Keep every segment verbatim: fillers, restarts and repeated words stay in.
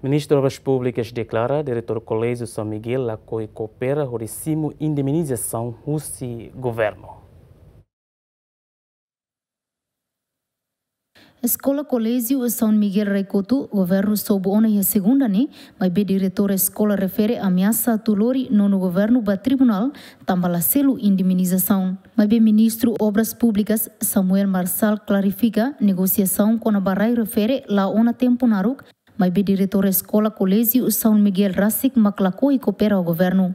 Ministru Obras Públikas deklara diretór Koléjiu São Miguel lakohi koopera hodi simu indemnizasaun husi governu. Eskola Koléjiu São Miguel Rai-Kotu, governu sobu ona iha segunda ne'e, maibé diretór eskola refere ameasa atu lori nonu governu ba tribunál, tanba la selu indemnizasaun. Maibé Ministru Obras Públikas, Samuel Marçal, klarifika negosiasaun kona-ba rai refere la'o ona tempu naruk, maibé diretór eskola Koléjiu São Miguel rasik mak lakohi koopera ho governu.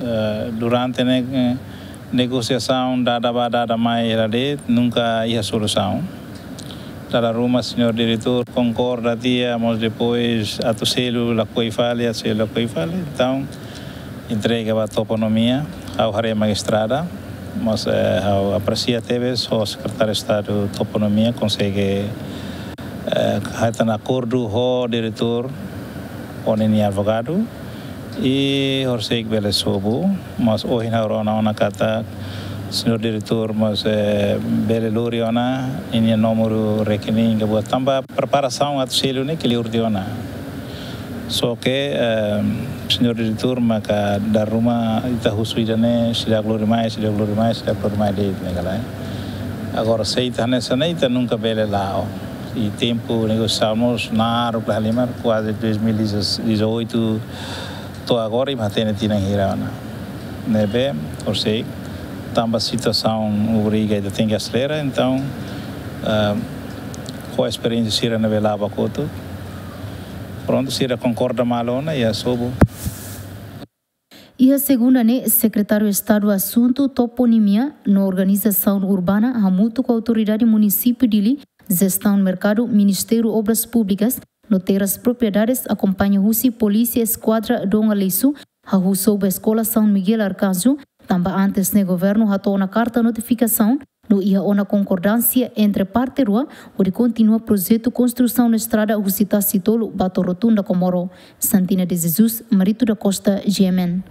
Eh, durante ne'e, eh, negosiasaun dada bá dada mai hela de'it, nunka iha solusaun. Dala ruma señór diretór konkorda tiha, mas depois atu selu lakohi fali, atu selu lakohi fali. Entaun, entrega ba Toponímia, ha'u haree mak estrada, mas, eh, ha'u apresia tebes ho Sekretáriu Estadu Toponímia konsege, eh, hetan akordu ho diretór, ho ninia advogadu, i horisehik bele sobu, mas ohin ha'u rona ona katak señór diretór mós, eh, bele lori ona ninia númeru rekening ka buat tanba preparasaun atu selu ne'e kleur tiha ona. Só ke, eh, señór diretór maka dala ruma ita husu ida-ne'e, seidauk lori mai, seidauk lori mai, seidauk lori mai de'it ne'e ka lae. Agora se ita hanesan ne'e ita nunka bele la'o. I tempu negosiasaun mós naruk la halimar, kuaze dois mil e dezoito to'o agora imi hatene tinan hira ona. Ne'ebé, horisehik, tanba situasaun obriga ita tenke aselera, entaun, ah, ho esperiénsia sira ne'ebé la'o ba kotuk, prontu, sira konkorda malu ona, i sobu. Iha segunda ne'e, Sekretáriu Estadu Asuntu Toponímia no Organizasaun Urbana hamutuk ho Autoridade Munisípiu Dili, Jestaun Merkadu, Ministériu Obras Públikas no Terras Propriedades akompaña husi Polísia Eskuadra Dom Aleixo, hahú sobu Eskola São Miguel Arcanjo, tanba antes ne'e governu hato'o ona karta notifikasaun no iha ona konkordánsia entre parte rua hodi kontinua projetu konstrusaun estrada husi Tasi Tolu ba to'o Rotunda Comoro. Santina de Jesus, Marito da Costa, G M N.